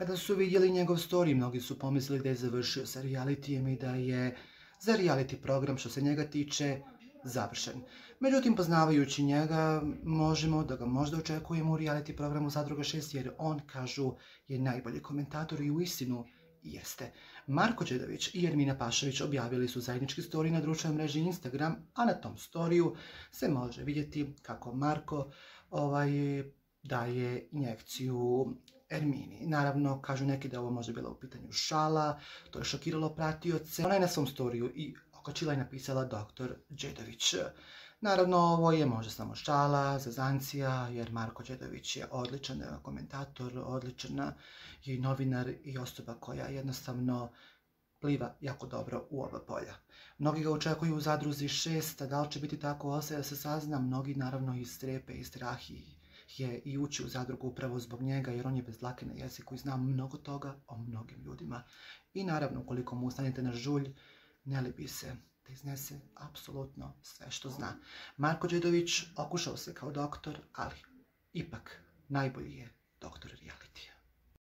Kada su vidjeli njegov story, mnogi su pomislili da je završio sa realitijem i da je za reality program, što se njega tiče, završen. Međutim, poznavajući njega, možemo da ga možda očekujemo u reality programu Zadruga 6, jer on, kažu, je najbolji komentator i uistinu jeste. Marko Đedović i Ermina Pašović objavili su zajednički story na društvenoj mreži Instagram, a na tom storiju se može vidjeti kako Marko daje injekciju Ermini. Naravno, kažu neki da ovo može bila u pitanju šala, to je šokiralo pratioce. Ona je na svom storiju i okačila i napisala dr. Đedović. Naravno, ovo je možda samo šala, zazancija, jer Marko Đedović je odličan komentator, odličan je i novinar i osoba koja jednostavno pliva jako dobro u oba polja. Mnogi ga očekuju u Zadruzi 6, a da li će biti tako ostaje da se sazna. Mnogi naravno i strepe i strahi je i ući u Zadrugu upravo zbog njega, jer on je bez dlake na jeziku i zna mnogo toga o mnogim ljudima. I naravno, ukoliko mu ustanete na žulj, ne libi se da iznese apsolutno sve što zna. Marko Đedović okušao se kao doktor, ali ipak najbolji je doktor realitija.